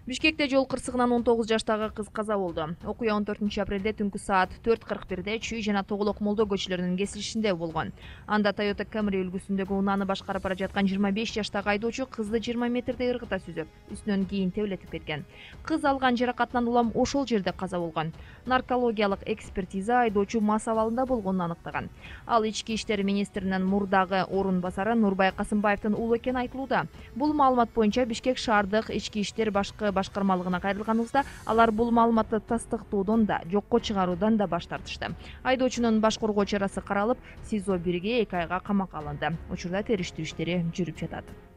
Бишкекте жол кырсыгынан 19 жаштагы кыз каза болду. Окуя 14 апрелде түнкү саат 4:41 Чүй жана Тоголок Молдо көчөлөрүнүн кесилишинде болгон. Анда Toyota Camry үлгүсүндөгү унааны башкарып бара жаткан 25 жаштагы айдоочу кызды 20 метрдей ыргыта сүзүп, үстүнөн кийин тебелетип кеткен. Кыз алган жаракатынан улам ошол жерде каза болгон. Наркологиялык экспертиза айдоочу мас абалында болгонун аныктаган. Ал Ички иштер министринин мурдагы орун басары Нурбай Касымбаевдин уулу экени айтылууда. Бул маалымат боюнча Бишкек шаардык ички иштер башкармалыгына кайрылганыбызда алар бул маалыматты тастыктоодон да, жокко чыгаруудан да баш тартышты. Айдоочунун баш коргоо чарасы каралып, СИЗО 1-ге 2 айга камакка алынды. Учурда териштирүү иштери жүрүп жатат.